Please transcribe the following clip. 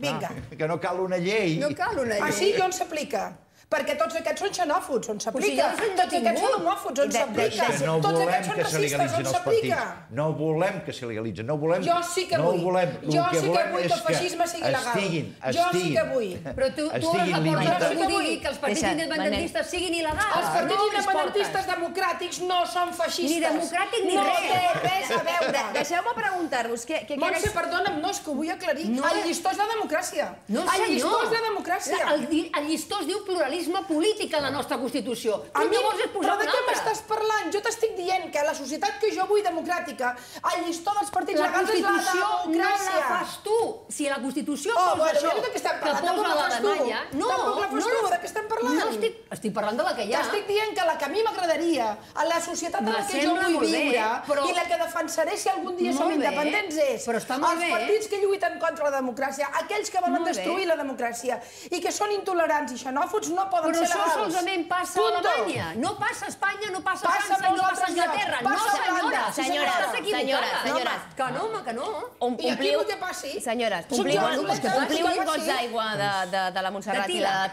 Vinga. Que no cal una llei. No cal una llei. Ah, sí? I on s'aplica? Perquè tots aquests són xenòfobs, on s'aplica? Tots aquests són homòfobs, on s'aplica? Tots aquests són racistes, on s'aplica? No volem que se legalitzen, no volem... Jo sí que vull. Jo sí que vull que el feixisme sigui legal. Jo sí que vull. Però tu has la porta que digui que els partits independentistes siguin il·legals. Els partits independentistes democràtics no són feixistes. Ni democràtic ni res. No té res a veure. Deixeu-me preguntar-vos... Montse, perdona'm, no, és que ho vull aclarir. El llistó és la democràcia. No, senyor. El llistó és la democràcia. El llistó es diu pluralisme polític en la nostra Constitució. Tu llavors és posar una altra. Però de què m'estàs parlant? Jo t'estic dient que la societat que jo vull democràtica, el llistó dels partits legals és la democràcia. La Constitució no la fas tu. Si la Constitució posa això, que posa la demanya... Tampoc la fas tu, de què estem parlant? No, estic parlant de la que hi ha. T'estic dient que la que a mi m'agradaria, a la societat en la que jo vull viure, i la que defensaré si algun dia som independents és els partits que lluiten contra la democràcia, aquells que volen destruir la democràcia i que són intolerants i xenòfobs no poden ser legals. Però això solament passa a Alemanya. No passa a Espanya, no passa a França, no passa a Anglaterra. No, senyores. Que no, home, que no. I aquí el que passi... Senyores, ompliu els gots d'aigua de la Montserrat i la Pilar.